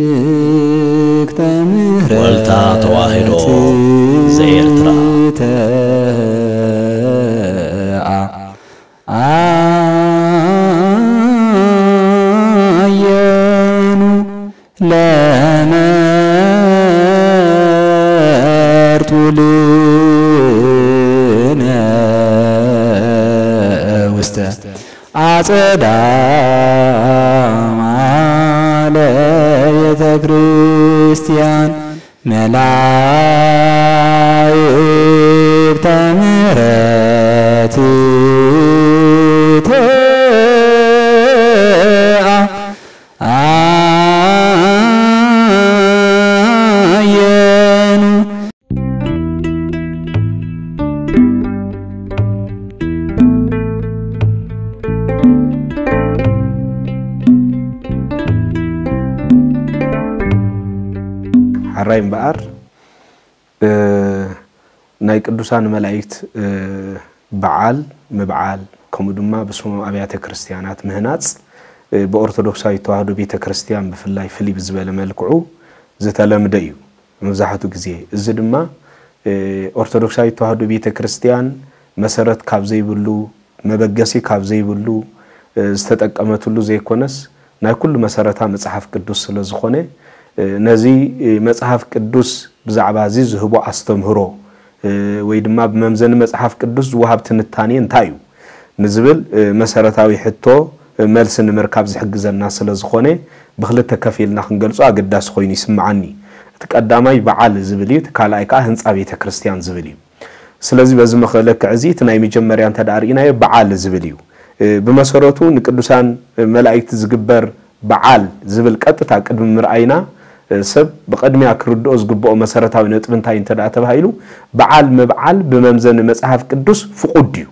መላእክተ ምሕረት ወልታ ተዋሕዶ ዘኤርትራ። ተአ-፣ አየኑ ለመርጡ ልነ ውስተ አጸዳ ማለ ቤተ ክርስቲያን መላእክተ ምሕረት ተአ-፣ አየኑ። ሓራይ እምበኣር፣ እ፣ ናይ ቅዱሳን መላእክት፣ እ፣ በዓል ምብዓል፣ ከምኡ ድማ ብስሞም ኣብያተ ክርስቲያናት ምህናጽ፣ እ፣ ብኦርቶዶክሳዊት ተዋህዶ ቤተ ክርስቲያን ብፍላይ ፍልይ ብዝበለ መልክዑ ዝተለምደ እዩ። መብዛሕትኡ ግዜ እዚ ድማ፣ እ፣ ኦርቶዶክሳዊት ተዋህዶ ቤተ ክርስቲያን መሰረት ካብ ዘይብሉ፣ መበገሲ ካብ ዘይብሉ፣ እ፣ ዝተጠቀመትሉ ዘይኮነስ፣ ናይ ኩሉ መሰረታ መጽሓፍ ቅዱስ ስለ ዝኾነ፣ እ፣ ነዚ፣ እ፣ መጽሓፍ ቅዱስ ብዛዕባ እዚ ዝህቦ ኣስተምህሮ፣ እ፣ ወይ ድማ ብመምዘኒ መጽሓፍ ቅዱስ ዝወሃብ ትንታኔ እንታይ እዩ ንዝብል፣ እ፣ መሰረታዊ ሕቶ፣ እ፣ መልሲ ንምርካብ ዝሕግዘና ስለ ዝኾነ፣ ብኽልተ ከፊልና ክንገልጾ ኣገዳሲ ኮይኑ ይስምዓኒ። እቲ ቀዳማይ በዓል ዝብል እዩ፣ እቲ ካልኣይ ከኣ ህንጻ ቤተ ክርስቲያን ዝብል እዩ። ስለዚ በዚ መኸ-፣ ለክዕ እዚ እቲ ናይ መጀመርያ እንተ ደኣ ርኢናዮ በዓል ዝብል እዩ። እ፣ ብመሰረቱ ንቅዱሳን መላእክቲ ዝግበር በዓል ዝብል ቀጥታ ቅድሚ ምርኣይና፣ እ፣ ሰብ ብቐድሚያ ክርድኦ ዝግብኦ መሰረታዊ ነጥቢ እንታይ እንተ ደኣ ተባሂሉ፣ በዓል ምብዓል ብመምዘኒ መጽሓፍ ቅዱስ ፍቑድ ድዩ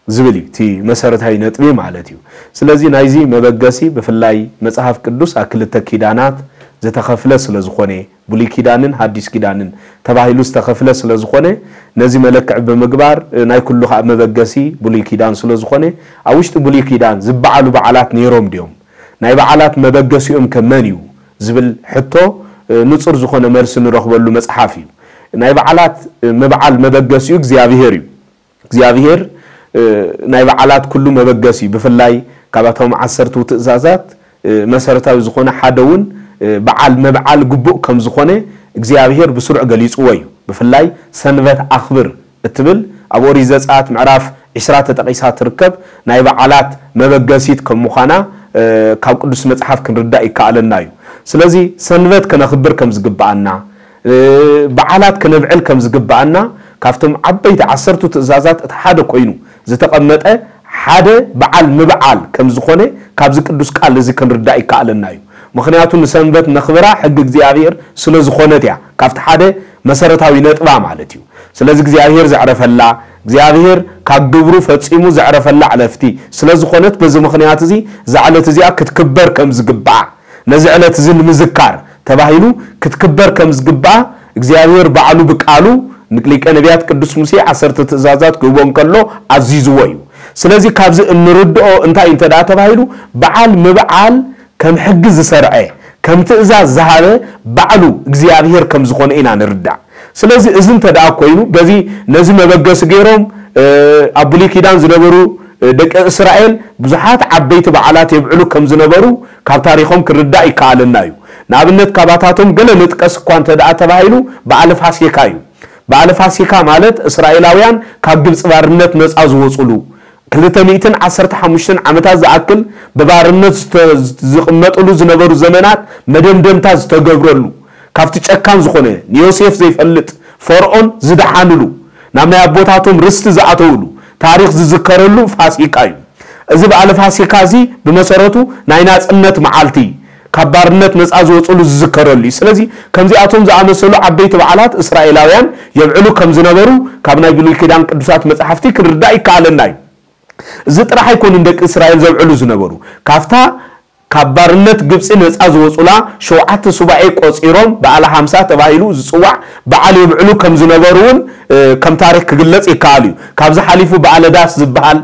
ዝብል እዩ እቲ መሰረታዊ ነጥቢ ማለት እዩ። ስለዚ ናይዚ መበገሲ ብፍላይ መጽሓፍ ቅዱስ ኣብ ክልተ ኪዳናት ዝተኸፍለ ስለ ዝኾነ፣ ብሉይ ኪዳንን ሃዲስ ኪዳንን ተባሂሉ ዝተኸፍለ ስለ ዝኾነ፣ ነዚ መለክዒ ብምግባር፣ እ፣ ናይ ኩሉ ከኣ መበገሲ ብሉይ ኪዳን ስለ ዝኾነ፣ ኣብ ውሽጢ ብሉይ ኪዳን ዝበዓሉ በዓላት ነይሮም ድዮም? ናይ በዓላት መበገሲኦም ከ መን እዩ? ዝብል ሕቶ፣ እ፣ ንጹር ዝኾነ መልሲ ንረኽበሉ መጽሓፍ እዩ። ናይ በዓላት፣ እ፣ ምብዓል መበገሲኡ እግዚኣብሄር እዩ። እግዚኣብሄር፣ እ፣ ናይ በዓላት ኩሉ መበገሲ እዩ። ብፍላይ ካብኣቶም ዓሰርቱ ትእዛዛት፣ እ፣ መሰረታዊ ዝኾነ ሓደ እውን፣ እ፣ በዓል ምብዓል ግቡእ ከም ዝኾነ እግዚኣብሄር ብስሩዕ ገሊጽዎ እዩ። ብፍላይ ሰንበት ኣኽብር እትብል ኣብ ኦሪት ዘጸኣት ምዕራፍ ዒስራ ተጠቒሳ ትርከብ ናይ በዓላት መበገሲት ከም ምዃና፣ እ፣ ካብ ቅዱስ መጽሓፍ ክንርዳእ ይከኣለና እዩ። ስለዚ ሰንበት ከነኽብር ከም ዝግብኣና፣ እ፣ በዓላት ከነብዕል ከም ዝግብኣና ካብቶም ዓበይቲ ዓሰርቱ ትእዛዛት እቲ ሓደ ኮይኑ ዝተቐመጠ ሓደ በዓል ምብዓል ከም ዝኾነ ካብዚ ቅዱስ ቃል እዚ ክንርዳእ ይከኣለና እዩ። ምኽንያቱ ንሰንበት ነኽብራ ሕጊ እግዚኣብሔር ስለ ዝኾነት እያ። ካብቲ ሓደ መሰረታዊ ነጥባ ማለት እዩ። ስለዚ እግዚኣብሔር ዘዕረፈላ፣ እግዚኣብሔር ካብ ግብሩ ፈጺሙ ዘዕረፈላ ዕለፍቲ ስለ ዝኾነት በዚ ምኽንያት እዚ እዛ ዕለት እዚኣ ክትክበር ከም ዝግብኣ፣ ነዚ ዕለት እዚ ንምዝካር ተባሂሉ ክትክበር ከም ዝግብኣ እግዚኣብሔር ባዕሉ ብቃሉ ንሊቀ ነቢያት ቅዱስ ሙሴ ዓሰርተ ትእዛዛት ክህቦ እንከሎ ኣዚዝዎ እዩ። ስለዚ ካብዚ እንርድኦ እንታይ እንተ ደኣ ተባሂሉ በዓል ምብዓል ከም ሕጊ ዝሰርዐ፣ ከም ትእዛዝ ዝሃበ ባዕሉ እግዚኣብሔር ከም ዝኾነ ኢና ንርዳእ። ስለዚ እዚ እንተ ደኣ ኮይኑ በዚ ነዚ መበገሲ ገይሮም፣ እ፣ ኣብ ብሉይ ኪዳን ዝነበሩ፣ እ፣ ደቂ እስራኤል ብዙሓት ዓበይቲ በዓላት የብዕሉ ከም ዝነበሩ ካብ ታሪኾም ክርዳእ ይከኣለና እዩ። ንኣብነት ካባታቶም ገለ ንጥቀስ እኳ እንተ ደኣ ተባሂሉ በዓል ፋሲካ እዩ። በዓል ፋሲካ ማለት እስራኤላውያን ካብ ግብጺ ባርነት ነጻ ዝወጹሉ፣ ክልተ ሚእትን ዓሰርተ ሓሙሽተን ዓመታት ዝኣክል ብባርነት ዝተ-፣ ዝቕመጥሉ ዝነበሩ ዘመናት መደምደምታ ዝተገብረሉ፣ ካብቲ ጨካን ዝኾነ ንዮሴፍ ዘይፈልጥ ፈርዖን ዝደሓንሉ፣ ናብ ናይ ኣቦታቶም ርስቲ ዝኣተውሉ ታሪኽ ዝዝከረሉ ፋሲካ እዩ። እዚ በዓል ፋሲካ እዚ ብመሰረቱ ናይ ናጽነት መዓልቲ፣ ካብ ባርነት ነጻ ዝወጽሉ ዝዝከረሉ እዩ። ስለዚ ከምዚኣቶም ዝኣመሰሉ ዓበይቲ በዓላት እስራኤላውያን የብዕሉ ከም ዝነበሩ ካብ ናይ ብሉይ ኪዳን ቅዱሳት መጻሕፍቲ ክንርዳእ ይከኣለና እዩ። እዚ ጥራሕ ኣይኮኑን ደቂ እስራኤል ዘብዕሉ ዝነበሩ። ካብታ ካብ ባርነት ግብጺ ነጻ ዝወጹላ ሸውዓተ ሱባኤ ቆጺሮም በዓለ ሓምሳ ተባሂሉ ዝጽዋዕ በዓል የብዕሉ ከም ዝነበሩ እውን፣ እ፣ ከም ታሪኽ ክግለጽ ይከኣል እዩ። ካብዚ ሓሊፉ በዓለ ዳስ ዝበሃል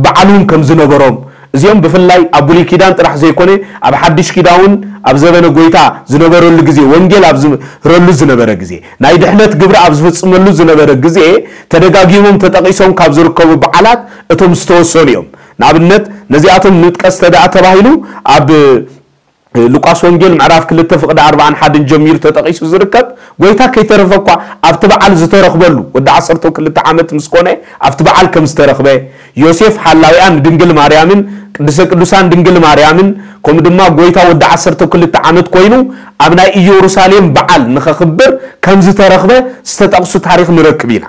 በዓል እውን ከም ዝነበሮም፣ እዚኦም ብፍላይ ኣብ ብሉይ ኪዳን ጥራሕ ዘይኮነ፣ ኣብ ሓድሽ ኪዳን እውን ኣብ ዘበነ ጎይታ ዝነበረሉ ግዜ፣ ወንጌል ኣብ ዝምህረሉ ዝነበረ ግዜ፣ ናይ ድሕነት ግብሪ ኣብ ዝፍጽመሉ ዝነበረ ግዜ፣ ተደጋጊሞም ተጠቒሶም ካብ ዝርከቡ በዓላት እቶም ዝተወሰኑ እዮም። ንኣብነት፣ ነዚኣቶም ንጥቀስ ተደኣ ተባሂሉ፣ ኣብ ሉቃስ ወንጌል ምዕራፍ ክልተ ፍቕዲ ኣርባዓን ሓደን ጀሚሩ ተጠቒሱ ዝርከብ፣ ጎይታ ከይተረፈ እኳ ኣብቲ በዓል ዝተረኽበሉ፣ ወዲ ዓሰርተ ክልተ ዓመት ምስ ኮነ ኣብቲ በዓል ከም ዝተረኽበ፣ ዮሴፍ ሓላዊኣ ንድንግል ማርያምን ቅድስተ ቅዱሳን ድንግል ማርያምን፣ ከምኡ ድማ ጎይታ ወዲ ዓሰርተ ክልተ ዓመት ኮይኑ ኣብ ናይ ኢየሩሳሌም በዓል ንኸኽብር ከም ዝተረኽበ ዝተጠቕሱ ታሪኽ ንረክብ ኢና።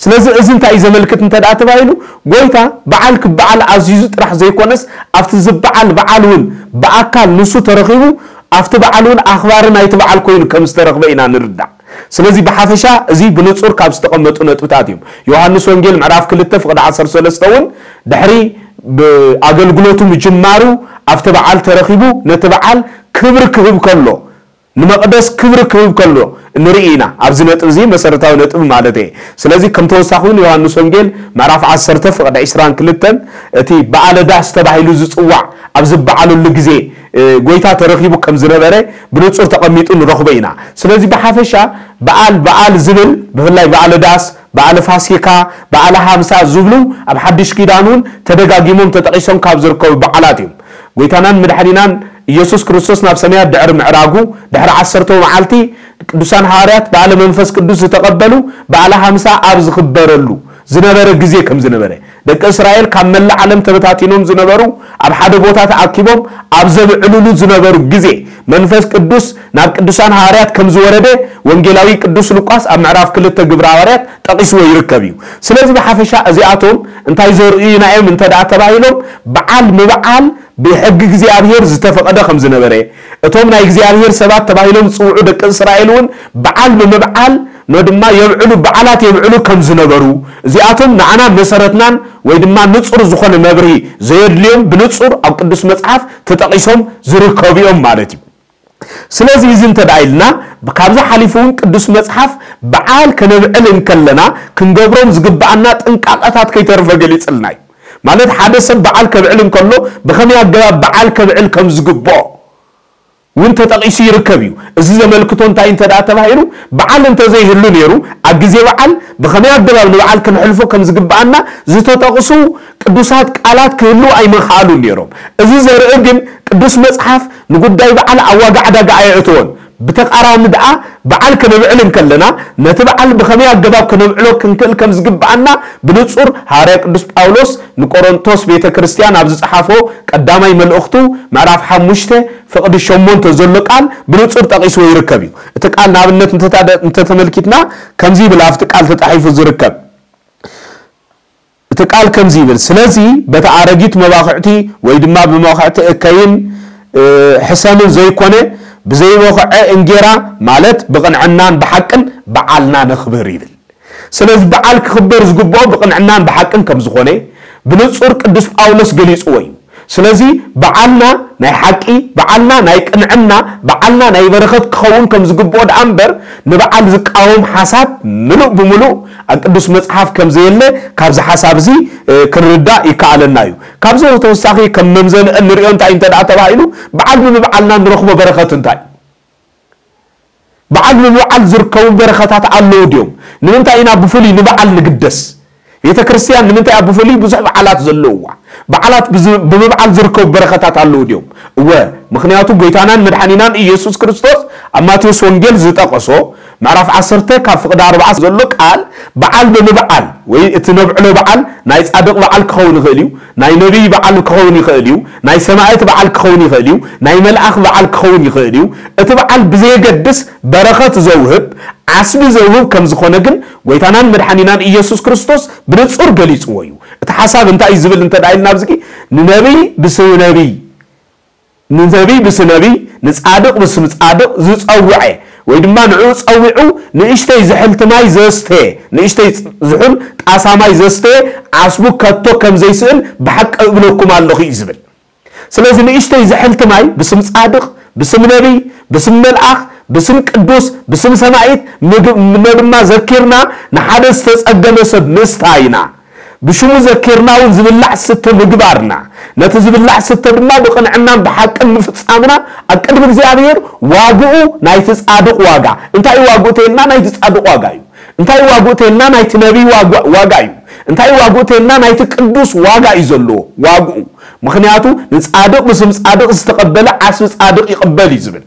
ስለዚ እዚ እንታይ እዩ ዘመልክት እንተ ደኣ ተባሂሉ፣ ጎይታ በዓል ክበዓል ኣዚዙ ጥራሕ ዘይኮነስ፣ ኣብቲ ዝበዓል በዓል እውን ብኣካል ንሱ ተረኺቡ፣ ኣብቲ በዓል እውን ኣኽባሪ ናይቲ በዓል ኮይኑ ከም ዝተረኽበ ኢና ንርዳእ። ስለዚ ብሓፈሻ እዚ ብንጹር ካብ ዝተቐመጡ ነጥብታት እዮም። ዮሃንስ ወንጌል ምዕራፍ ክልተ ፍቕዲ ዓሰርተ ሰለስተ እውን ድሕሪ ብኣገልግሎቱ ምጅማሩ ኣብቲ በዓል ተረኺቡ ነቲ በዓል ክብሪ ክህብ ከሎ፣ ንመቕደስ ክብሪ ክህብ ከሎ ንርኢ ኢና። ኣብዚ ነጥቢ እዚ መሰረታዊ ነጥቢ ማለት እየ። ስለዚ ከም ተወሳኺ እውን ዮሃንስ ወንጌል ምዕራፍ ዓሰርተ ፍቕዲ ዕስራን ክልተን እቲ በዓለ ዳስ ተባሂሉ ዝጽዋዕ ኣብ ዝበዓለሉ ግዜ፣ እ፣ ጎይታ ተረኺቡ ከም ዝነበረ ብንጹር ተቐሚጡ ንረኽቦ ኢና። ስለዚ ብሓፈሻ በዓል በዓል ዝብል ብፍላይ በዓለ ዳስ፣ በዓለ ፋሲካ፣ በዓለ ሃምሳ ዝብሉ ኣብ ሓድሽ ኪዳን እውን ተደጋጊሞም ተጠቒሶም ካብ ዝርከቡ በዓላት እዮም። ጎይታናን መድሓኒናን ኢየሱስ ክርስቶስ ናብ ሰማያት ድሕሪ ምዕራጉ ድሕሪ ዓሰርተው መዓልቲ ቅዱሳን ሃዋርያት በዓለ መንፈስ ቅዱስ ዝተቐበሉ በዓለ ሃምሳ ኣብ ዝኽበረሉ ዝነበረ ግዜ ከም ዝነበረ፣ ደቂ እስራኤል ካብ መላእ ዓለም ተበታቲኖም ዝነበሩ ኣብ ሓደ ቦታ ተኣኪቦም ኣብ ዘብዕሉሉ ዝነበሩ ግዜ መንፈስ ቅዱስ ናብ ቅዱሳን ሃዋርያት ከም ዝወረደ ወንጌላዊ ቅዱስ ሉቃስ ኣብ ምዕራፍ ክልተ ግብረ ሃዋርያት ጠቒስዎ ይርከብ እዩ። ስለዚ ብሓፈሻ እዚኣቶም እንታይ ዘርእዩና እዮም እንተ ደኣ ተባሂሎም፣ በዓል ምብዓል ብሕጊ እግዚኣብሔር ዝተፈቐደ ከም ዝነበረ፣ እቶም ናይ እግዚኣብሔር ሰባት ተባሂሎም ዝጽውዑ ደቂ እስራኤል እውን በዓል ብምብዓል ኖ ድማ የብዕሉ፣ በዓላት የብዕሉ ከም ዝነበሩ፣ እዚኣቶም ንዓና መሰረትናን ወይ ድማ ንጹር ዝኾነ መብርሂ ዘየድልዮም ብንጹር ኣብ ቅዱስ መጽሓፍ ተጠቒሶም ዝርከቡ እዮም ማለት እዩ። ስለዚ እዚ እንተ ደኣ ኢልና፣ ካብዚ ሓሊፉ እውን ቅዱስ መጽሓፍ በዓል ከነብዕል እንከለና ክንገብሮም ዝግብኣና ጥንቃቐታት ከይተርፈ ገሊጽልና እዩ። ማለት ሓደ ሰብ በዓል ከብዕል እንከሎ ብኸመይ ኣገባብ በዓል ከብዕል ከም ዝግብኦ እውን ተጠቒሱ ይርከብ እዩ። እዚ ዘመልክቶ እንታይ እንተ ደኣ ተባሂሉ፣ በዓል እንተ ዘይህሉ ነይሩ፣ ኣብ ግዜ በዓል ብኸመይ ኣገባብ ንበዓል ክንሕልፎ ከም ዝግብኣና ዝተጠቕሱ ቅዱሳት ቃላት ክህልዉ ኣይምኸኣሉን ነይሮም። እዚ ዘርኢ ግን ቅዱስ መጽሓፍ ንጉዳይ በዓል ኣብ ዋጋ ዕዳጋ ኣየእትዎን። ብተቓራኒ ደኣ በዓል ከነብዕል እንከለና ነቲ በዓል ብኸመይ ኣገባብ ከነብዕሎ ክንክእል ከም ዝግብኣና ብንጹር ሃዋርያ ቅዱስ ጳውሎስ ንቆሮንቶስ ቤተ ክርስቲያን ኣብ ዝጸሓፎ ቀዳማይ መልእኽቱ ምዕራፍ ሓሙሽተ ፍቕዲ ሸሞንተ ዘሎ ቃል ብንጹር ጠቒስዎ ይርከብ እዩ። እቲ ቃል ንኣብነት እንተታደ-፣ እንተተመልኪትና ከምዚ ይብል ኣብቲ ቃል ተጻሒፉ ዝርከብ። እቲ ቃል ከምዚ ይብል፣ ስለዚ በታ ኣረጊት መባኹዕቲ ወይ ድማ ብመባኹዕቲ እከይን፣ እ፣ ሕሰምን ዘይኮነ ብዘይበኹዐ እንጌራ ማለት ብቕንዕናን ብሓቅን በዓልና ነኽብር ይብል። ስለዚ በዓል ክኽበር ዝግብኦ ብቕንዕናን ብሓቅን ከም ዝኾነ ብንጹር ቅዱስ ጳውሎስ ገሊጽዎ እዩ። ስለዚ በዓልና ናይ ሓቂ፣ በዓልና ናይ ቅንዕና፣ በዓልና ናይ በረኸት ክኸውን ከም ዝግብኦ ደኣ እምበር ንበዓል ዝቃወም ሓሳብ ምሉእ ብምሉእ ኣብ ቅዱስ መጽሓፍ ከም ዘየለ ካብዚ ሓሳብ እዚ፣ እ፣ ክንርዳእ ይከኣለና እዩ። ካብዚ ተወሳኺ ከም መምዘኒ እንሪኦ እንታይ እንተ ደኣ ተባሂሉ በዓል ብምብዓልና ንረኽቦ በረኸት እንታይ? በዓል ብምብዓል ዝርከቡ በረኸታት ኣለዉ ድዮም? ንምንታይ ኢና ብፍሉይ ንበዓል ንግደስ? ቤተ ክርስቲያን ንምንታይ እያ ብፍሉይ ብዙሕ በዓላት ዘለውዋ? በዓላት ብዝ-፣ ብምብዓል ዝርከቡ በረኸታት ኣለዉ ድዮም? እወ፣ ምኽንያቱ ጎይታናን መድሓኒናን ኢየሱስ ክርስቶስ ኣብ ማቴዎስ ወንጌል ዝጠቐሶ ምዕራፍ ዓሰርተ ካብ ፍቕዲ ኣርባዓ ዘሎ ቃል በዓል ብምብዓል ወይ እቲ ነብዕሎ በዓል ናይ ጻድቕ በዓል ክኸውን ይኽእል እዩ፣ ናይ ነቢይ በዓል ክኸውን ይኽእል እዩ፣ ናይ ሰማዕት በዓል ክኸውን ይኽእል እዩ፣ ናይ መልኣኽ በዓል ክኸውን ይኽእል እዩ። እቲ በዓል ብዘየገድስ በረኸት ዘውህብ፣ ዓስቢ ዘውህብ ከም ዝኾነ ግን ጎይታናን መድሓኒናን ኢየሱስ ክርስቶስ ብንጹር ገሊጽዎ እዩ። እቲ ሓሳብ እንታይ እዩ ዝብል እንተ ደኣ ኢልና ኣብዚ፣ ንነቢይ ብስም ነቢይ፣ ንነቢይ ብስም ነቢይ፣ ንጻድቕ ብስም ጻድቕ ዝጸውዐ ወይ ድማ ንዕኡ ጸዊዑ ንእሽተይ ዝሕልቲ ማይ ዘስተ፣ ንእሽተይ ዝሑል ጣሳ ማይ ዘስተ ዓስቡ ከቶ ከም ዘይስእን ብሓቂ እብለኩም ኣለኹ እዩ ዝብል። ስለዚ ንእሽተይ ዝሕልቲ ማይ ብስም ጻድቕ፣ ብስም ነቢይ፣ ብስም መልኣኽ፣ ብስም ቅዱስ፣ ብስም ሰማዒት፣ ምግብ-፣ ኖ ድማ ዘኪርና ንሓደ ዝተጸገመ ሰብ ምስታይና፣ ብሽሙ ዘኪርና እውን ዝብላዕ ስተ ምግባርና፣ ነቲ ዝብላዕ ስተ ድማ ብቕንዕናን ብሓቅን ምፍጻምና ኣብ ቅድሚ እግዚኣብሔር ዋግኡ ናይቲ ጻድቕ ዋጋ። እንታይ ዋግኡ ተይልና ናይቲ ጻድቕ ዋጋ እዩ። እንታይ ዋግኡ ተይልና ናይቲ ነቢይ ዋጋ እዩ። እንታይ ዋግኡ ተይልና ናይቲ ቅዱስ ዋጋ እዩ ዘለዎ ዋግኡ። ምኽንያቱ ንጻድቕ ብስም ጻድቕ ዝተቐበለ ዓስቢ ጻድቕ ይቕበል እዩ ዝብል።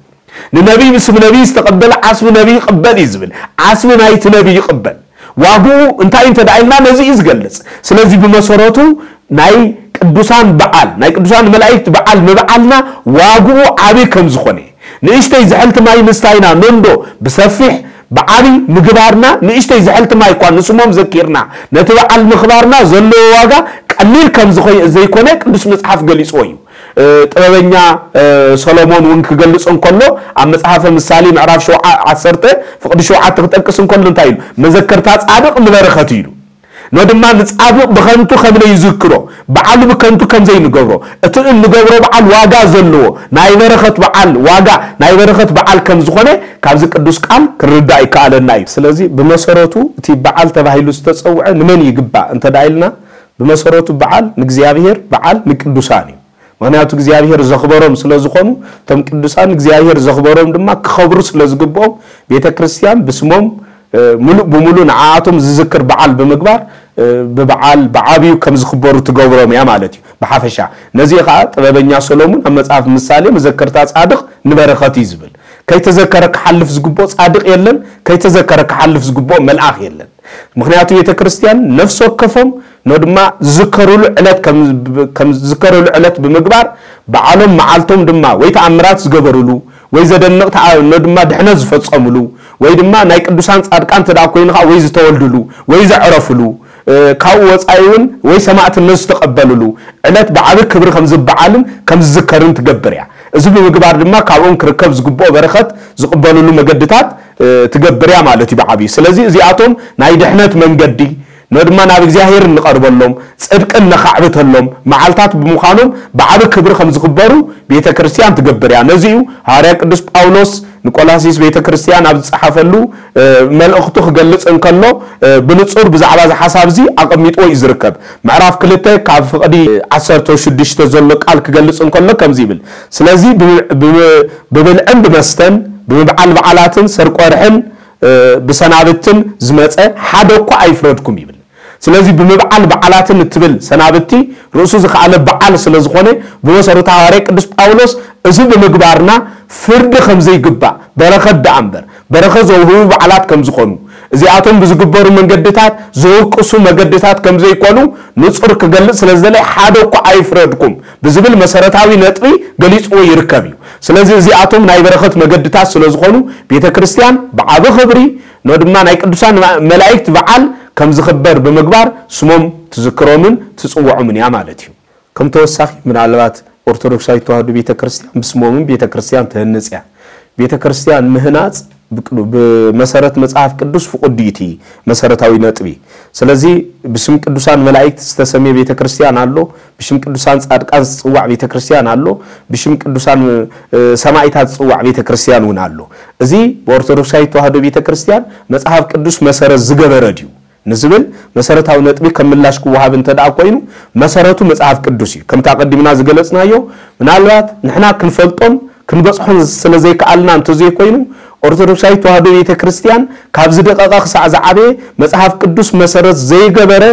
ንነቢይ ብስም ነቢይ ዝተቐበለ ዓስቢ ነቢይ ይቕበል እዩ ዝብል። ዓስቢ ናይቲ ነቢይ ይቕበል። ዋግኡ እንታይ እንተ ደኣ ኢልና ነዚ እዩ ዝገልጽ። ስለዚ ብመሰረቱ ናይ ቅዱሳን በዓል ናይ ቅዱሳን መላእክት በዓል ምብዓልና ዋግኡ ዓቢ ከም ዝኾነ፣ ንእሽተይ ዝሕልቲ ማይ ምስታይና ነንዶ ብሰፊሕ ብዓቢ ምግባርና፣ ንእሽተይ ዝሕልቲ ማይ እኳ ንስሞም ዘኪርና ነቲ በዓል ምኽባርና ዘለዎ ዋጋ ቀሊል ከም ዝኾይ ዘይኮነ ቅዱስ መጽሓፍ ገሊጽዎ እዩ። ጥበበኛ ሰሎሞን እውን ክገልጽ እንከሎ ኣብ መጽሓፈ ምሳሌ ምዕራፍ ሸውዓ ዓሰርተ ፍቕዲ ሸውዓተ ክጠቅስ እንከሎ እንታይ ኢሉ? መዘከርታ ጻድቕ ንበረኸት ኢሉ። ኖ ድማ ንጻድቕ ብኸንቱ ከም ዘይዝክሮ፣ በዓሉ ብከንቱ ከም ዘይንገብሮ፣ እቲ እንገብሮ በዓል ዋጋ ዘለዎ ናይ በረኸት በዓል ዋጋ ናይ በረኸት በዓል ከም ዝኾነ ካብዚ ቅዱስ ቃል ክርዳእ ይከኣለና እዩ። ስለዚ ብመሰረቱ እቲ በዓል ተባሂሉ ዝተጸውዐ ንመን ይግባእ እንተ ደኣ ኢልና፣ ብመሰረቱ በዓል ንእግዚኣብሔር፣ በዓል ንቅዱሳን እዩ። ምኽንያቱ እግዚኣብሔር ዘኽበሮም ስለ ዝኾኑ፣ እቶም ቅዱሳን እግዚኣብሔር ዘኽበሮም ድማ ክኸብሩ ስለ ዝግብኦም፣ ቤተ ክርስቲያን ብስሞም፣ እ፣ ሙሉእ ብሙሉእ ንዓኣቶም ዝዝክር በዓል ብምግባር፣ እ፣ ብበዓል ብዓብዩ ከም ዝኽበሩ ትገብሮም እያ ማለት እዩ። ብሓፈሻ ነዚ ኸዓ ጥበበኛ ሰሎሙን ኣብ መጽሓፍ ምሳሌ መዘከርታ ጻድቕ ንበረኸት እዩ ዝብል። ከይተዘከረ ክሓልፍ ዝግብኦ ጻድቕ የለን፣ ከይተዘከረ ክሓልፍ ዝግብኦ መልኣኽ የለን። ምኽንያቱ ቤተ ክርስቲያን ነፍሲ ወከፎም ኖ ድማ ዝዝከሩሉ ዕለት ከም፣ ከም ዝዝከሩሉ ዕለት ብምግባር በዓሎም መዓልቶም ድማ ወይ ተኣምራት ዝገበሩሉ ወይ ዘደንቕ ተኣ-፣ ኖ ድማ ድሕነት ዝፈጸሙሉ ወይ ድማ ናይ ቅዱሳን ጻድቃን እንተ ደኣ ኮይኑ ኸዓ ወይ ዝተወልዱሉ ወይ ዘዕረፉሉ፣ እ፣ ካብኡ ወጻኢ እውን ወይ ሰማዕትነት ዝተቐበሉሉ ዕለት ብዓቢ ክብሪ ከም ዝበዓልን ከም ዝዝከርን ትገብር እያ። እዚ ብምግባር ድማ ካብኦም ክርከብ ዝግብኦ በረኸት ዝቕበሉሉ መገድታት፣ እ፣ ትገብር እያ ማለት እዩ ብዓብዩ። ስለዚ እዚኣቶም ናይ ድሕነት መንገዲ፣ ኖ ድማ ናብ እግዚኣብሔር እንቐርበሎም፣ ጽድቂ እነኻዕብተሎም መዓልታት ብምዃኖም ብዓቢ ክብሪ ከም ዝኽበሩ ቤተ ክርስቲያን ትገብር እያ። ነዚ እዩ ሃዋርያ ቅዱስ ጳውሎስ ንቆላሲስ ቤተ ክርስቲያን ኣብ ዝጸሓፈሉ፣ እ፣ መልእኽቱ ክገልጽ እንከሎ፣ እ፣ ብንጹር ብዛዕባ እዚ ሓሳብ እዚ ኣቐሚጥዎ እዩ ዝርከብ። ምዕራፍ ክልተ ካብ ፍቕዲ ዓሰርተ ሽዱሽተ ዘሎ ቃል ክገልጽ እንከሎ ከምዚ ይብል፣ ስለዚ ብ-፣ ብ-፣ ብብልዕን ብመስተን፣ ብምብዓል በዓላትን ሰርቆርሕን፣ እ፣ ብሰናብትን ዝመጸ ሓደ እኳ ኣይፍረድኩም ይብል። ስለዚ ብምብዓል በዓላትን እትብል ሰናብቲ ርእሱ ዝኸኣለ በዓል ስለ ዝኾነ፣ ብመሰረቱ ሃዋርያ ቅዱስ ጳውሎስ እዚ ብምግባርና ፍርዲ ከም ዘይግባእ፣ በረኸት ደኣ እምበር፣ በረኸት ዘውህቡ በዓላት ከም ዝኾኑ፣ እዚኣቶም ብዝግበሩ መንገድታት ዘውቅሱ መገድታት ከም ዘይኮኑ ንጹር ክገልጽ ስለ ዝደለየ፣ ሓደ እኳ ኣይፍረድኩም ብዝብል መሰረታዊ ነጥቢ ገሊጽዎ ይርከብ እዩ። ስለዚ እዚኣቶም ናይ በረኸት መገድታት ስለ ዝኾኑ፣ ቤተ ክርስቲያን ብዓቢ ክብሪ ኖ ድማ ናይ ቅዱሳን መላእክት በዓል ከም ዝኽበር ብምግባር ስሞም ትዝክሮምን ትጽውዖምን እያ ማለት እዩ። ከም ተወሳኺ ምናልባት ኦርቶዶክሳዊት ተዋህዶ ቤተ ክርስቲያን ብስሞምን ቤተ ክርስቲያን ትህንጽ እያ። ቤተ ክርስቲያን ምህናጽ ብቅዱ-፣ ብመሰረት መጽሓፍ ቅዱስ ፍቁድ እዩ እቲ መሰረታዊ ነጥቢ። ስለዚ ብስም ቅዱሳን መላእክት ዝተሰምየ ቤተ ክርስቲያን ኣሎ፣ ብሽም ቅዱሳን ጻድቃን ዝጽዋዕ ቤተ ክርስቲያን ኣሎ፣ ብሽም ቅዱሳን፣ እ፣ ሰማዕታት ዝጽዋዕ ቤተ ክርስቲያን እውን ኣሎ። እዚ ብኦርቶዶክሳዊት ተዋህዶ ቤተ ክርስቲያን መጽሓፍ ቅዱስ መሰረት ዝገበረ ድዩ ንዝብል መሰረታዊ ነጥቢ ከም ምላሽ ክወሃብ እንተ ደኣ ኮይኑ፣ መሰረቱ መጽሓፍ ቅዱስ እዩ። ከምቲ ኣቐዲምና ዝገለጽናዮ፣ ምናልባት ንሕና ክንፈልጦን ክንበጽሖን ስለ ዘይከኣልና እንተዘይኮይኑ፣ ኦርቶዶክሳዊት ተዋህዶ ቤተ ክርስቲያን ካብ ዝደቐቐ ክሳዕ ዝዓበየ መጽሓፍ ቅዱስ መሰረት ዘይገበረ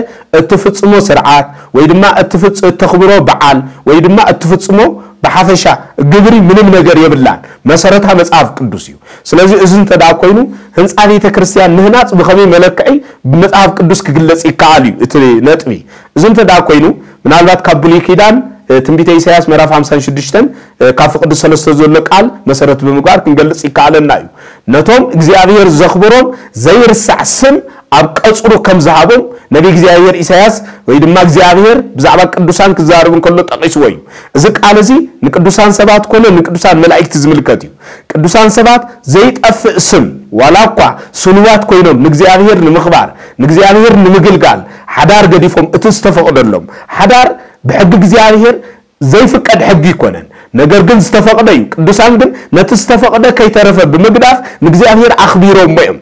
እትፍጽሞ ስርዓት ወይ ድማ እትፍጽ-፣ እተኽብሮ በዓል ወይ ድማ እትፍጽሞ ብሓፈሻ ግብሪ ምንም ነገር የብላን። መሰረታ መጽሓፍ ቅዱስ እዩ። ስለዚ እዚ እንተ ደኣ ኮይኑ፣ ህንጻ ቤተ ክርስቲያን ምህናጽ ብኸመይ መለክዒ ብመጽሓፍ ቅዱስ ክግለጽ ይከኣል እዩ እቲ ነጥቢ። እዚ እንተ ደኣ ኮይኑ፣ ምናልባት ካብ ብሉይ ኪዳን፣ እ፣ ትንቢተ ኢሳያስ ምዕራፍ ሓምሳን ሽዱሽተን፣ እ፣ ካብ ፍቕዲ ሰለስተ ዘሎ ቃል መሰረት ብምግባር ክንገልጽ ይከኣለና እዩ። ነቶም እግዚኣብሔር ዘኽብሮም ዘይርሳዕ ስም ኣብ ቀጽሩ ከም ዝሃቦም ነቢ እግዚኣብሔር ኢሳያስ ወይ ድማ እግዚኣብሔር ብዛዕባ ቅዱሳን ክዛረብ እንከሎ ጠቒስዎ እዩ። እዚ ቃል እዚ ንቅዱሳን ሰባት ኮነ ንቅዱሳን መላእክቲ ዝምልከት እዩ። ቅዱሳን ሰባት ዘይጠፍእ ስም፣ ዋላ እኳ ስኑዋት ኮይኖም ንእግዚኣብሔር ንምኽባር፣ ንእግዚኣብሔር ንምግልጋል ሓዳር ገዲፎም፣ እቲ ዝተፈቕደሎም ሓዳር ብሕጊ እግዚኣብሔር ዘይፍቀድ ሕጊ ይኮነን። ነገር ግን ዝተፈቕደ እዩ። ቅዱሳን ግን ነቲ ዝተፈቕደ ከይተረፈ ብምግዳፍ ንእግዚኣብሔር ኣኽቢሮሞ እዮም።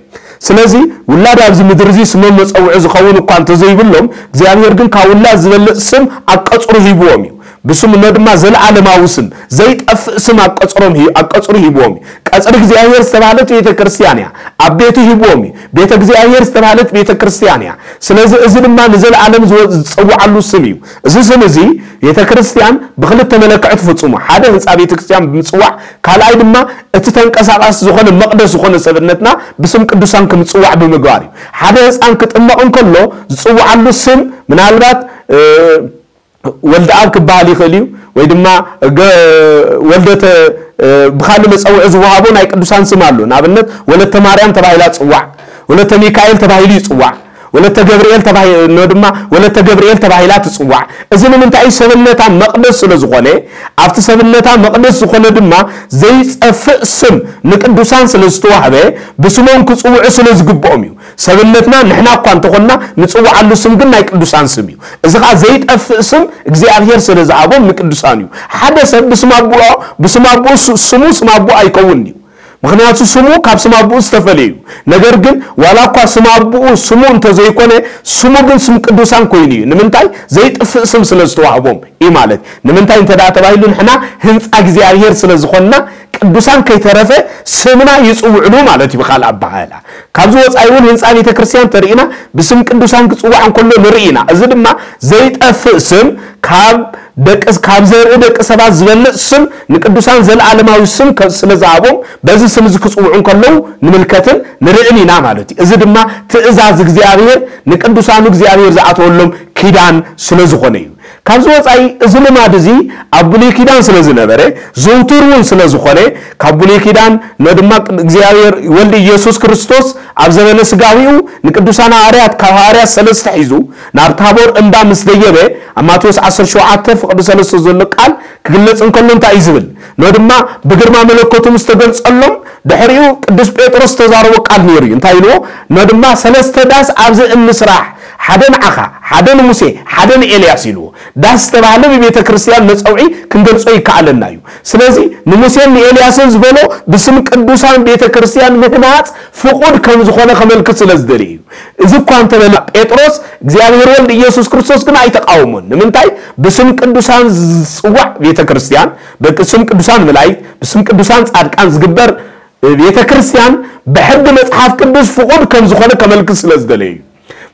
ስለዚ ውላድ ኣብዚ ምድሪ እዚ ስሞም መጸውዒ ዝኸውን እኳ እንተዘይብሎም፣ እግዚኣብሔር ግን ካብ ውላድ ዝበልጽ ስም ኣብ ቀጽሩ ሂብዎም እዩ። ብስሙ ድማ ዘለዓለማዊ ስም፣ ዘይጠፍእ ስም ኣብ ቀጽሮም ሂ-፣ ኣብ ቀጽሩ ሂብዎም እዩ። ቀጽሪ እግዚኣብሔር ዝተባህለት ቤተ ክርስቲያን እያ። ኣብ ቤቱ ሂብዎም እዩ። ቤተ እግዚኣብሔር ዝተባህለት ቤተ ክርስቲያን እያ። ስለዚ እዚ ድማ ንዘለዓለም ዝወ-፣ ዝጸውዓሉ ስም እዩ። እዚ ስም እዚ ቤተ ክርስቲያን ብክልተ መለክዒ ትፍጽሙ። ሓደ ህንጻ ቤተ ክርስቲያን ብምጽዋዕ፣ ካልኣይ ድማ እቲ ተንቀሳቃሲ ዝኾነ መቕደስ ዝኾነ ሰብነትና ብስም ቅዱሳን ክምጽዋዕ ብምግባር እዩ። ሓደ ህፃን ክጥመቕ እንከሎ ዝጽውዓሉ ስም ምናልባት፣ እ፣ ወልደ ኣብ ክበሃል ይኽእል እዩ፣ ወይ ድማ ገ-፣ ወልደተ፣ እ፣ ብኻልእ መጸውዒ ዝወሃቦ ናይ ቅዱሳን ስም ኣሎ። ንኣብነት ወለተ ማርያም ተባሂላ ትጽዋዕ፣ ወለተ ሚካኤል ተባሂሉ ይጽዋዕ፣ ወለተ ገብርኤል ተባሂ-፣ ኖ ድማ ወለተ ገብርኤል ተባሂላ ትጽዋዕ። እዚ ንምንታይ? ሰብነታ መቕደስ ስለ ዝኾነ፣ ኣብቲ ሰብነታ መቕደስ ዝኾነ ድማ ዘይጸፍእ ስም ንቅዱሳን ስለ ዝተዋህበ፣ ብስሞም ክጽውዑ ስለ ዝግብኦም እዩ። ሰብነትና ንሕና እኳ እንተኾንና፣ ንጽውዓሉ ስም ግን ናይ ቅዱሳን ስም እዩ። እዚ ኸኣ ዘይጠፍእ ስም እግዚኣብሔር ስለ ዝሃቦም ንቅዱሳን እዩ። ሓደ ሰብ ብስም ኣቦኡ፣ ብስም ኣቦኡ ስ-፣ ስሙ ስም ኣቦኡ ኣይከውን እዩ። ምኽንያቱ ስሙ ካብ ስም ኣቦኡ ዝተፈለየ እዩ። ነገር ግን ዋላ እኳ ስም ኣቦኡ ስሙ እንተዘይኮነ፣ ስሙ ግን ስም ቅዱሳን ኮይኑ እዩ። ንምንታይ? ዘይጥፍእ ስም ስለ ዝተዋህቦም እዩ ማለት። ንምንታይ እንተ ደኣ ተባሂሉ፣ ንሕና ህንጻ እግዚኣብሔር ስለ ዝኾንና፣ ቅዱሳን ከይተረፈ ስምና ይጽውዕሉ ማለት እዩ። ብኻልእ ኣበሃህላ፣ ካብዚ ወጻኢ እውን ህንጻ ቤተ ክርስቲያን ተርኢና ብስም ቅዱሳን ክጽዋዕ እንከሎ ንርኢ ኢና። እዚ ድማ ዘይጠፍእ ስም፣ ካብ ደቂ፣ ካብ ዘርኢ ደቂ ሰባት ዝበልጽ ስም፣ ንቅዱሳን ዘለዓለማዊ ስም ከ-፣ ስለ ዝሃቦም፣ በዚ ስም እዚ ክጽውዑ እንከለዉ ንምልከትን ንርእን ኢና ማለት እዩ። እዚ ድማ ትእዛዝ እግዚኣብሔር፣ ንቅዱሳኑ እግዚኣብሔር ዝኣተወሎም ኪዳን ስለ ዝኾነ እዩ። ካብዚ ወጻኢ እዚ ልማድ እዚ ኣብ ብሉይ ኪዳን ስለ ዝነበረ፣ ዝውቱር እውን ስለ ዝኾነ፣ ካብ ብሉይ ኪዳን ን-፣ ድማ እግዚኣብሔር ወልድ ኢየሱስ ክርስቶስ ኣብ ዘበነ ስጋዊኡ ንቅዱሳን ሃዋርያት፣ ካብ ሃዋርያት ሰለስተ ሒዙ ናብ ታቦር እምባ ምስ ደየበ፣ ኣብ ማቴዎስ ዓሰርተ ሸውዓተ ፍቕዲ ሰለስተ ዘሎ ቃል ክግለጽ እንከሎ እንታይ እዩ ዝብል? ን-፣ ድማ ብግርማ መለኮቱ ምስ ተገልጸሎም፣ ድሕሪኡ ቅዱስ ጴጥሮስ ዝተዛረቦ ቃል ነይሩ እዩ። እንታይ ኢልዎ? ን-፣ ድማ ሰለስተ ዳስ ኣብዚ እንስራሕ፣ ሓደ ንዓኻ፣ ሓደ ንሙሴ፣ ሓደ ንኤልያስ ኢልዎ። ዳስ ዝተባህለ ብቤተ ክርስቲያን መጸውዒ ክንገልጾ ይከኣለና እዩ። ስለዚ ንሙሴን ንኤልያስን ዝበሎ ብስም ቅዱሳን ቤተ ክርስቲያን ምህናጽ ፍቑድ ከም ዝኾነ ከመልክት ስለ ዝደሊ እዩ። እዚ እኳ እንተበለ ጴጥሮስ እግዚኣብሔር ወልድ ኢየሱስ ክርስቶስ ግን ኣይተቃወሞን። ንምንታይ? ብስም ቅዱሳን ዝጽዋዕ ቤተ ክርስቲያን፣ ብስም ቅዱሳን መላእክት፣ ብስም ቅዱሳን ጻድቃን ዝግበር ቤተ ክርስቲያን ብሕጊ መጽሓፍ ቅዱስ ፍቑድ ከም ዝኾነ ከመልክት ስለ ዝደለየ እዩ።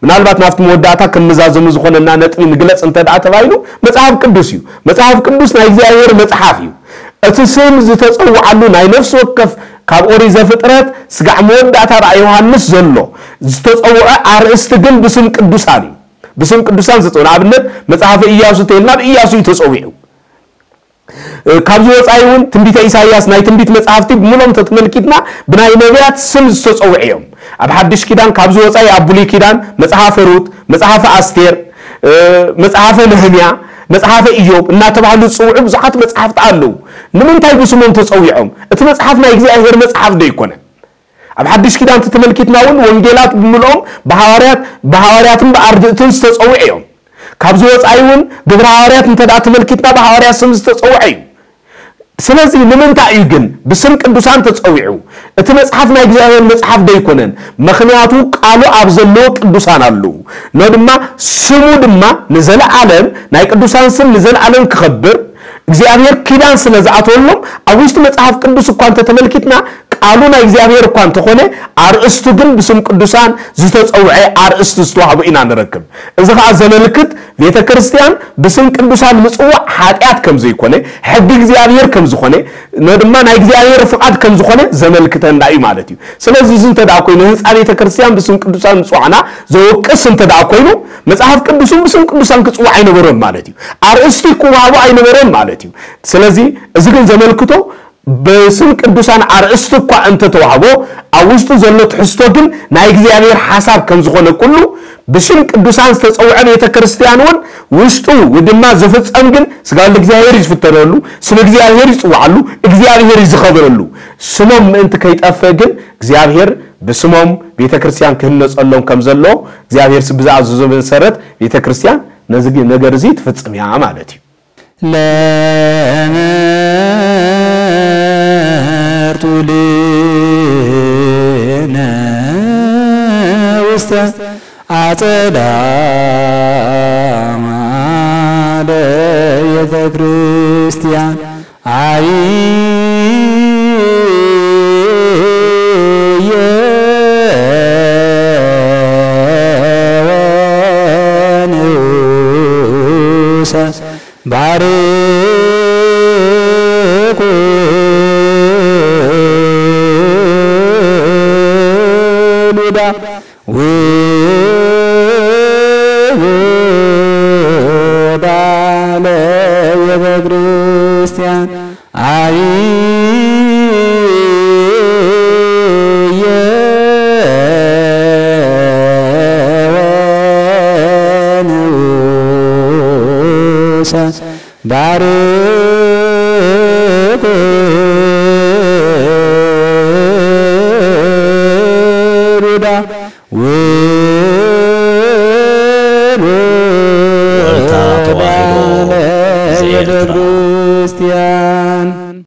ምናልባት ናብቲ መወዳእታ ከም መዛዘሚ ዝኾነና ነጥቢ ንግለጽ እንተ ደኣ ተባሂሉ፣ መጽሓፍ ቅዱስ እዩ። መጽሓፍ ቅዱስ ናይ እግዚኣብሔር መጽሓፍ እዩ። እቲ ስም ዝተጸውዓሉ ናይ ነፍሲ ወከፍ ካብ ኦሪት ዘፍጥረት ስጋዕ መወዳእታ ራእይ ዮሃንስ ዘሎ ዝተጸውዐ ኣርእስቲ ግን ብስም ቅዱሳን እዩ። ብስም ቅዱሳን ዝተጸውዐ፣ ንኣብነት መጽሓፈ ኢያሱ ተይልና ብኢያሱ እዩ ተጸዊዑ። እ፣ ካብዚ ወጻኢ እውን ትንቢተ ኢሳይያስ፣ ናይ ትንቢት መጽሓፍቲ ብምሎም ተተመልኪትና ብናይ ነቢያት ስም ዝተጸውዑ እዮም። ኣብ ሓድሽ ኪዳን ካብዚ ወጻኢ ኣብ ብሉይ ኪዳን መጽሓፈ ሩት፣ መጽሓፈ ኣስቴር፣ እ፣ መጽሓፈ ነህምያ፣ መጽሓፈ ኢዮብ እናተባህሉ ዝጽውዑ ብዙሓት መጽሓፍቲ ኣለዉ። ንምንታይ ብስሞም ተጸዊዖም? እቲ መጽሓፍ ናይ እግዚኣብሔር መጽሓፍ ዶ ኣይኮነን? ኣብ ሓድሽ ኪዳን ተተመልኪትና እውን ወንጌላት ብምልኦም ብሃዋርያት፣ ብሃዋርያትን ብኣርድእትን ዝተጸውዑ እዮም። ካብዚ ወጻኢ እውን ግብረ ሃዋርያት እንተ ደኣ ተመልኪትና ብሃዋርያት ስም ዝተጸውዐ እዩ። ስለዚ ንምንታይ እዩ ግን ብስም ቅዱሳን ተጸዊዑ? እቲ መጽሓፍ ናይ እግዚኣብሔር መጽሓፍ ዶ ኣይኮነን? ምኽንያቱ ቃሉ ኣብ ዘለዎ ቅዱሳን ኣለዉ። ኖ ድማ ስሙ ድማ ንዘለዓለም፣ ናይ ቅዱሳን ስም ንዘለዓለም ክኸብር እግዚኣብሔር ኪዳን ስለ ዝኣተወሎም ኣብ ውሽጢ መጽሓፍ ቅዱስ እኳ እንተተመልኪትና ቃሉ ናይ እግዚኣብሔር እኳ እንተኾነ ኣርእስቱ ግን ብስም ቅዱሳን ዝተጸውዐ ኣርእስቲ ዝተዋህቦ ኢና ንረክብ። እዚ ኸኣ ዘመልክት ቤተ ክርስቲያን ብስም ቅዱሳን ምጽዋዕ ሓጢኣት ከም ዘይኮነ፣ ሕጊ እግዚኣብሔር ከም ዝኾነ፣ ኖ ድማ ናይ እግዚኣብሔር ፍቓድ ከም ዝኾነ ዘመልክተና እዩ ማለት እዩ። ስለዚ እዚ እንተ ደኣ ኮይኑ ህንጻ ቤተ ክርስቲያን ብስም ቅዱሳን ምጽዋዕና ዘወቅስ እንተ ደኣ ኮይኑ መጽሓፍ ቅዱስ እውን ብስም ቅዱሳን ክጽዋዕ ኣይነበሮን ማለት እዩ። ኣርእስቲ ክወሃቦ ኣይነበሮን ማለት እዩ። ስለዚ እዚ ግን ዘመልክቶ ብስም ቅዱሳን ኣርእስቲ እኳ እንተተዋህቦ ኣብ ውሽጡ ዘሎ ትሕዝቶ ግን ናይ እግዚኣብሔር ሓሳብ ከም ዝኾነ ኩሉ ብስም ቅዱሳን ዝተጸውዐ ቤተ ክርስቲያን እውን ውሽጡ ድማ ዝፍጸም ግን ስጋ ወልድ እግዚኣብሔር እዩ ዝፍተረሉ፣ ስም እግዚኣብሔር ይጽዋዓሉ፣ እግዚኣብሔር እዩ ዝኸብረሉ። ስሞም ምእንቲ ከይጠፍእ ግን እግዚኣብሔር ብስሞም ቤተ ክርስቲያን ክህነጸሎም ከም ዘሎ እግዚኣብሔር ስ-፣ ብዝኣዘዞ መሰረት ቤተ ክርስቲያን ነዚ ግ-፣ ነገር እዚ ትፍጽም እያ ማለት እዩ። ለመርቱ ልነ ገዳም ለቤተ ክርስቲያን አብየ ወንዑሰ ባርኩ ሉዳ ውሉዳ ለቤተ ክርስቲያን አብየ ወንዑሰ ባርኩ